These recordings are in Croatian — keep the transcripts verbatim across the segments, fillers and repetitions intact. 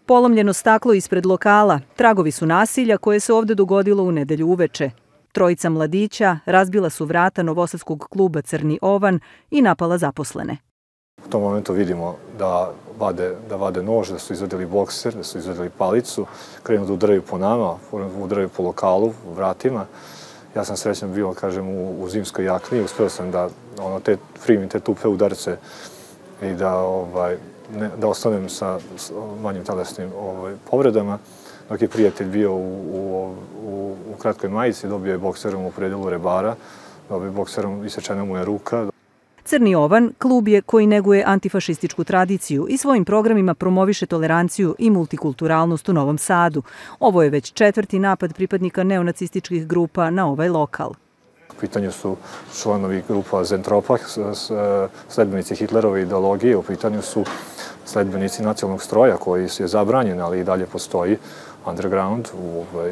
Polomljeno staklo ispred lokala, tragovi su nasilja koje se ovde dogodilo u nedelju uveče. Trojica mladića razbila su vrata novosadskog kluba Crni Ovan i napala zaposlene. U tom momentu vidimo da vade, da vade nož, da su izvadili bokser, da su izvadili palicu, krenu da udaraju po nama, udaraju po lokalu, vratima. Ja sam srećan bio, kažem, u, u zimskoj jakni, uspeo sam da ono, te, primim te tupe udarce i da, ovaj, ne, da ostanem sa manjim telesnim ovaj, povredama. Dok je prijatelj bio u, u, u, u kratkoj majici, dobio je bokserom u predelu rebara, dobio je bokserom, isečena mu je ruka. Crni Ovan klub je koji neguje antifašističku tradiciju i svojim programima promoviše toleranciju i multikulturalnost u Novom Sadu. Ovo je već četvrti napad pripadnika neonacističkih grupa na ovaj lokal. U pitanju su članovi grupa Zentropa, sledbenici Hitlerove ideologije, u pitanju su sledbenici nacionalnog stroja koji je zabranjen, ali i dalje postoji underground ovaj,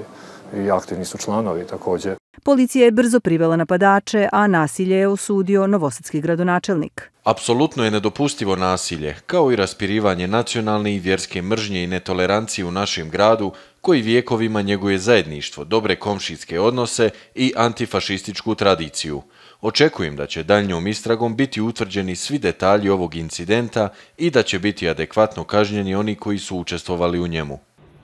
i aktivni su članovi također. Policija je brzo privela napadače, a nasilje je osudio novosadski gradonačelnik. Apsolutno je nedopustivo nasilje, kao i raspirivanje nacionalne i vjerske mržnje i netolerancije u našem gradu, koji vijekovima njeguje zajedništvo, dobre komšijske odnose i antifašističku tradiciju. Očekujem da će daljnjom istragom biti utvrđeni svi detalji ovog incidenta i da će biti adekvatno kažnjeni oni koji su učestvovali u njemu.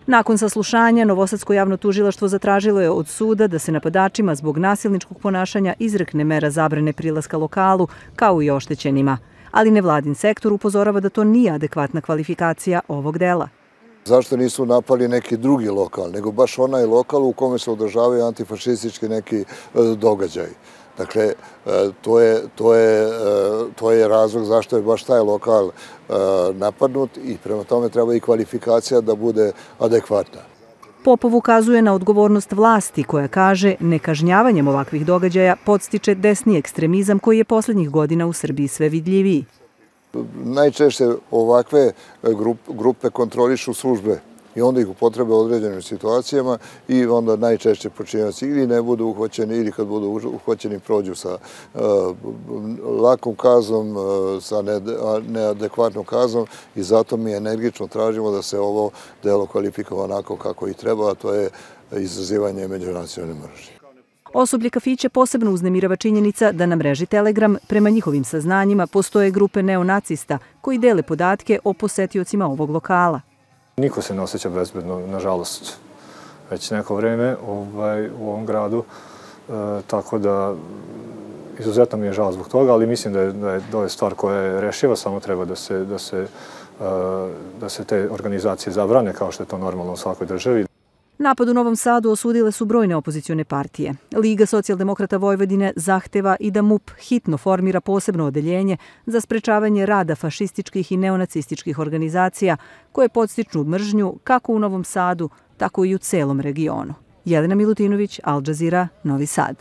Nakon saslušanja, Novosadsko javno tužilaštvo zatražilo je od suda da se napadačima zbog nasilničkog ponašanja izrekne mera zabrane prilaska lokalu, kao i oštećenima. Ali nevladin sektor upozorava da to nije adekvatna kvalifikacija ovog dela. Zašto nisu napali neki drugi lokal, nego baš onaj lokal u kome se održavaju antifašistički neki događaj. Dakle, to je, to je, to je razlog zašto je baš taj lokal napadnut i prema tome treba i kvalifikacija da bude adekvatna. Popov ukazuje na odgovornost vlasti koja kaže nekažnjavanjem ovakvih događaja podstiče desni ekstremizam koji je posljednjih godina u Srbiji sve vidljiviji. Najčešće ovakve grupe kontrolišu službe i onda ih upotrebe u određenim situacijama i onda najčešće počinjaci ili ne budu uhvaćeni ili kad budu uhvaćeni prođu sa lakom kaznom, sa neadekvatnom kaznom i zato mi energično tražimo da se ovo delo kvalifikuje onako kako i treba, a to je izazivanje međunacionalne mržnje. Osoblje kafića posebno uznemirava činjenica da na mreži Telegram, prema njihovim saznanjima, postoje grupe neonacista koji dele podatke o posetiocima ovog lokala. Niko se ne osjeća bezbedno, nažalost, već neko vreme ovaj, u ovom gradu, e, tako da izuzetno mi je žao zbog toga, ali mislim da je, da je, da je stvar koja je rešiva, samo treba da se, da, se, e, da se te organizacije zabrane kao što je to normalno u svakoj državi. Napad u Novom Sadu osudile su brojne opozicione partije. Liga socijaldemokrata Vojvodine zahteva i da MUP hitno formira posebno odeljenje za sprečavanje rada fašističkih i neonacističkih organizacija koje podstiču mržnju kako u Novom Sadu, tako i u celom regionu. Jelena Milutinović, Al Jazeera, Novi Sad.